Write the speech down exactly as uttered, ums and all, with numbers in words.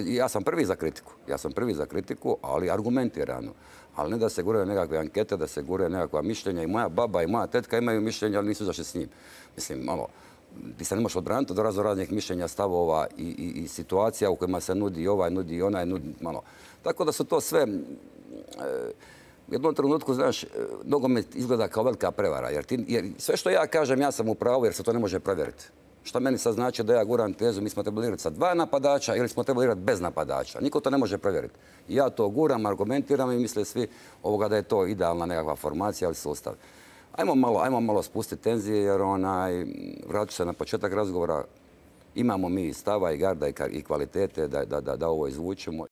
Ja sam prvi za kritiku, ja sam prvi za kritiku, ali argumentirano. Ali ne da se guraju nekakve ankete, da se guraju nekakva mišljenja. I moja baba i moja tetka imaju mišljenja, ali nisu zašli s njim. Mislim, malo, ti se ne možeš odbraniti od razno raznih mišljenja, stavova i, i, i situacija u kojima se nudi ovaj, nudi onaj, nudi malo. Tako da su to sve... E, u jednom trenutku, znaš, nogomet izgleda kao velika prevara. Jer, ti, jer sve što ja kažem, ja sam u pravu jer se to ne može provjeriti. Šta meni sad znači da ja guram tezu, mi smo trebali igrati sa dva napadača ili smo trebali igrati bez napadača. Niko to ne može provjeriti. Ja to guram, argumentiram i misle svi ovoga da je to idealna nekakva formacija ili sustav. Ajmo malo, ajmo malo spustiti tenzije jer onaj, vraću se na početak razgovora. Imamo mi stava i garda i kvalitete da, da, da, da ovo izvučemo.